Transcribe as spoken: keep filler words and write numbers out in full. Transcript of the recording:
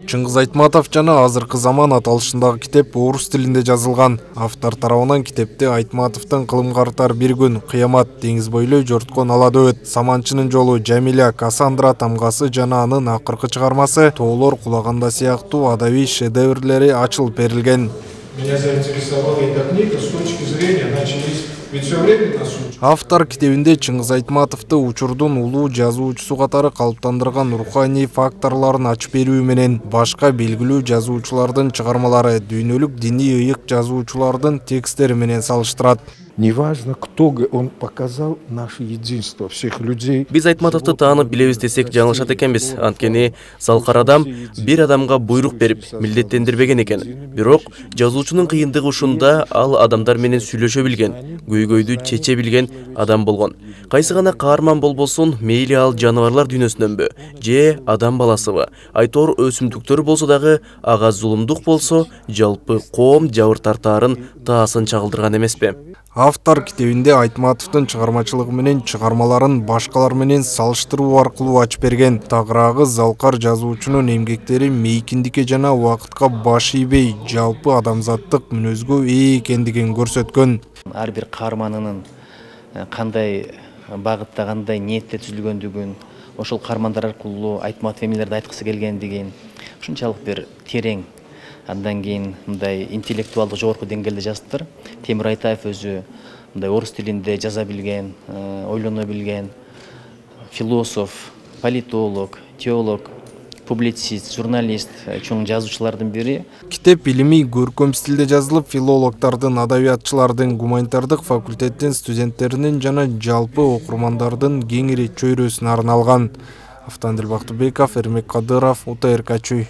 Чыңгыз Айтматов жана азыркы заман аталышындагы китеп орус тилинде жазылган. Автор тарабынан китепте Айтматовдун кылымга артар бир күн, кыямат, деңиз бойлой жорткон ала дөбөт, Саманчынын жолу, Жамиля, Кассандра тамгасы жана анын акыркы чыгармасы Тоолор кулаганда сыяктуу адабий шедеврлери ачылып берилген. Меня заинтересовала эта книга с точки зрения, начались, ведь все время нас учат. Автор китебинде Чыңгыз Айтматовду учурдун улуу жазуучусу катары калыптандырган руханий факторлорун ачып берүү менен башка белгилүү жазуучулардын чыгармалары, дүйнөлүк диний ыйык жазуучулардын текстери менен салыштырат. Неважно, кто он показал наше единство всех людей. Биз Айтматовду таанып билебиз десек жаңылышат экенбиз. Анткени залкар адам бир адамга буйрук берип, милдеттендирбеген экен. Бирок жазуучунун кыйындыгы ушунда, ал адамдар менен сүйлөшө билген, көйгөйдү чече билген адам болгон. Кайсы гана каарман болбосун, мейли ал жаныбарлар дүйнөсүнөнбү, же адам баласыбы, айтор өсүмдүктөр болсо дагы, ага зулумдук болсо, жалпы коом жабыр тартаарын таасын чагылдырган эмеспи? Автор китебинде Айтматовдун чыгармачылыгы менен чыгармаларын башкалар менен салыштыруу аркылуу ачып берген. Тагыраагы залкар жазуучунун эмгектери мейкиндикке жана убакытка баш ийбей, жалпы адамзаттык мүнөзгө ээ экендигин көрсөткөн. Ар бир каарманынын кандай багытта, кандай ниетте түзүлгөндүгүн, ошол каармандар аркылуу Айтматов эмнелерди айткысы келгендигин ушунчалык бир терең, андан кийин мындай интеллектуалдык жогорку деңгээлде жазыптыр. Темир Айтаев өзү мындай орус тилинде жаза билген, ойлоно билген философ, политолог, теолог, публицист, журналист, чоң жазуучулардын бири. Китеп илимий көркөм стилде жазылып, филологдордун, адабиятчылардын, гуманитардык факультеттин студенттеринин жана жалпы окурмандардын кеңири чөйрөсүнө арналган. Автандил Бактыбеков, Эрмек Кадыров, УТРК Чүй.